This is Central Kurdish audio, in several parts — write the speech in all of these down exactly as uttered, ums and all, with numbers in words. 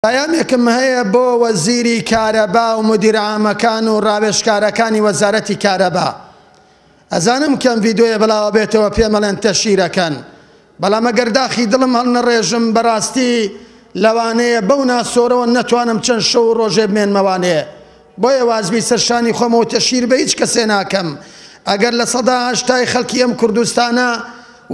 پەیامێکم هەیە بۆ وەزیری کارەبا و مدیر عامەکان و ڕاوێژکارەکانی وەزارەتی کارەبا. ئەزانم کەم ڤیدیۆیە بڵاوە بێتەوە پێمەڵێن تەشیرەکەن، بەڵام ئەگەر داخی دڵم هەڵنەڕێژم بەڕاستی لەوانەیە بەو ناسۆرەوە نەتوانم چەند شەو و ڕۆژێ بمێنمەوانێ. بۆیە وازبی سەرشانی خۆمەوە تەشیر بە هیچ کەسێ ناکەم. ئەگەر لە سەدا هەشتای خەڵکی ئەم کوردستانە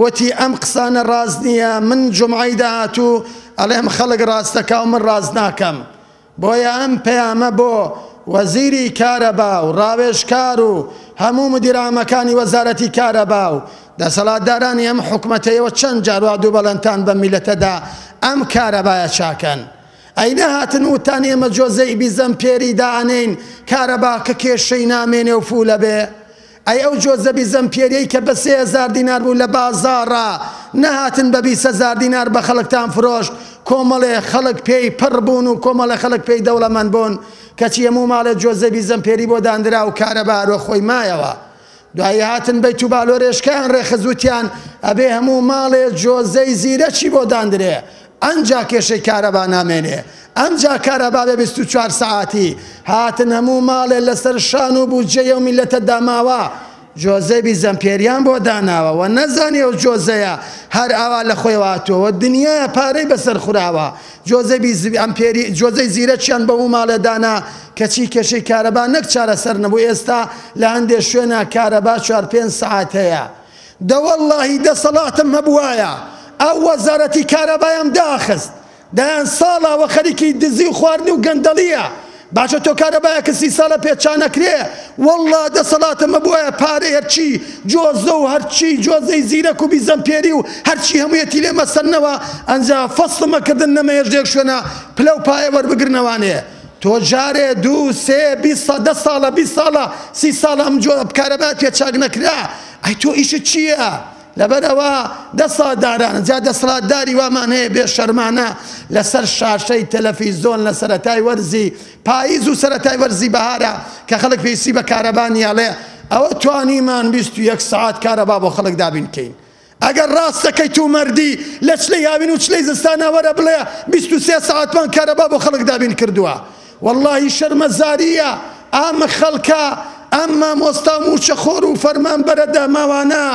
وتی ئەم قسانە ڕاست نییە، من جومعەی داهاتوو ئەڵێم خەڵک ڕاستەکە و من ڕاست ناکەم. بۆیە ئەم پەیامە بۆ وەزیری کارەبا و ڕاوێژکار و هەموو مدیرامەکانی وەزارەتی کارەبا و دەسەڵاتدارانی ئەم حکومەتەیەوە چەند جار وا دوو بەڵێنتان بە میلەتەدا ئەم کارەبایە چاکەن. ئەی نەهاتن وتان ئێمە جۆزەی بیزەم پێری دائەنین کارەبا کە کێشەی نامێنێ و فولە بێ؟ ئەی ئەو جۆزە بیزەم پێریەی کە بە سێ هەزار دینار بوو لە بازاڕا نەهاتن بە بیست هەزار دینار بە خەڵکتان فرۆشت، کۆمەڵێ خەڵک پێی پڕ بوون و کۆمەڵێ خەڵک پێی دەوڵەمەند بوون، کەچی هەموو ماڵێ جۆزە بیزەم پێری بۆ داندرا و کارەبا هەروە خۆی مایەوە. دوایی هاتن بەیت و بالۆرێشکەیان ڕێخست وتیان ئەبێ هەموو ماڵێ جۆزەی زیرەکی بۆ داندرێ، ئەنجا کێشەی کارەبا نامێنێ، ئەنجا کارەبا بێ بیست و چوار سەعاتی. هاتن هەموو ماڵێ لەسەر شان و بودجەیە و میلەتە داماوە جۆزەی بیزەمپێریان بۆ داناوە و نەزانی ئەو جۆزەیە هەر ئاوا لە خۆی هاتووە، دنیایە پارەی بەسەر خوراوە. جۆزەی ئەمپێری جۆزەی زیرەکیان بە هەموو ماڵێ دانا، کەچی کێشەی کارەبا نەک چارەسەر نەبوو، ئێستا لە هەندێک شوێنە کارەبا چوار پێنج سەعات هەیە. دەوەڵڵاهی دەسەڵاتم هەبوایە ئەو وەزارەتی کارەبایم داخست، دەیان ساڵەوە خەریکی دزی و خواردنی و گەندەڵیە. باشە تۆ کارەبایەکە سی ساڵە پێچانەکرێ، وەڵڵا دەسەڵاتم هەبوایە پارەی هەرچی جۆزە و هەرچی جۆزەی زیرەک و بیزەمپێری و هەرچی هەموویەتی لێ مەسەرنەوە، ئەنجا فەسڵمە کردن نەمەیەش لێک شوێنە پلە و پایە وەربگرنەوانێ. تۆ جارێ دوو سێ بیست دە ساڵە بیست ساڵە سی ساڵە ئەم جۆ کارەبا پێچاک نەکرا، ئەی تۆ ئیشت چییە؟ لەبەرەوە دەسەڵاتداران جا دەسەڵاتداری وامان هەیە بێشەرمانە لەسەر شاشەی تەلەفیزۆن لە سەرەتای وەرزی پاییز و سەرەتای وەرزی بەهارە کە خەڵک پێویستی بە کارەبا نییە، ئەڵێ ئەوە توانیمان بیست و یەک سەعات کارەبا بۆ خەڵک دابین بکەین. ئەگەر ڕاستەکەی تو مەردی لە چلەی هاوین و چلەی زستانە وەرە بڵێ بیست و سێ سەعاتمان کارەبا بۆ خەڵک دابین کردووە. وەڵڵاهی شەرمەزاریە ئەم خەڵکە، ئەم مامۆستا موچەخۆر و فەرمانبەرە داماوانە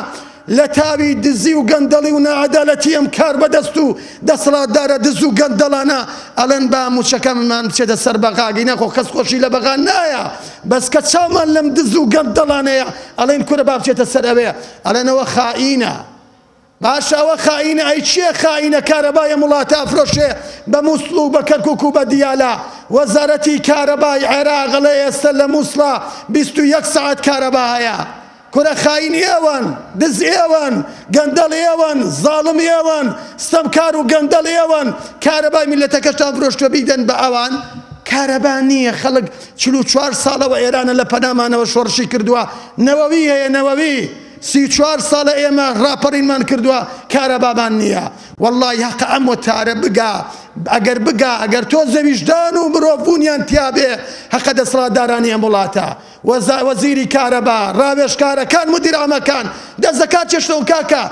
لە تاوی دزی و گەندەڵی و ناعەدالەتی ئەم کار بەدەست و دەسەڵاتدارە دز و گەندەڵانە ئەڵێن با موچەکەمان بچێتە سەر بەغاگی، نەخۆ کەس خۆشی لە بەغا نایە، بەس کە چاومان لەم دز و گەندەڵانەیە ئەڵێن کورە با بچێتە سەر ئەوێ، ئەڵێنەوە خائینە. باشە ئەوە خائینە، ئەی چییە خائینە؟ کارەبای ئەم وڵاتە ئەفرۆشێ بە مووسڵ و بە کەرکوک و بە دیالە. وەزارەتی کارەبای عێراق ئەڵێ ئێستا لە مووسڵا بیست و یەک سەعات کارەبا هەیە. کورە خاین ئێوەن، دز ئێوەن، گەندەڵ ئێوەن، زاڵم ئێوەن، ستەمکار و گەندەڵ ئێوەن، کارەبای میلەتەکەشتان فرۆشتوە بیدەن بە ئەوان. کارەبا نییە، خەڵک چل و چوار ساڵەوە ئێرانە لە پەنامانەوە شۆڕشی کردووە، نەوەوی هەیە، نەوەوی سی و چوار ساڵە ئێمە ڕاپەڕینمان کردووە، کارەبامان نییە. وەڵڵاهی هەقە ئەم وتارە بگا، ئەگەر بگا، ئەگەر تۆ زەویژدان و مرۆڤبوونیان تیابێ، هەقە دەسەڵاتدارانی ئەم وڵاتە، وەزیری کارەبا، ڕاوێژکارەکان، مدیر عامەکان دەست دەکات چێشتەوە کاکە.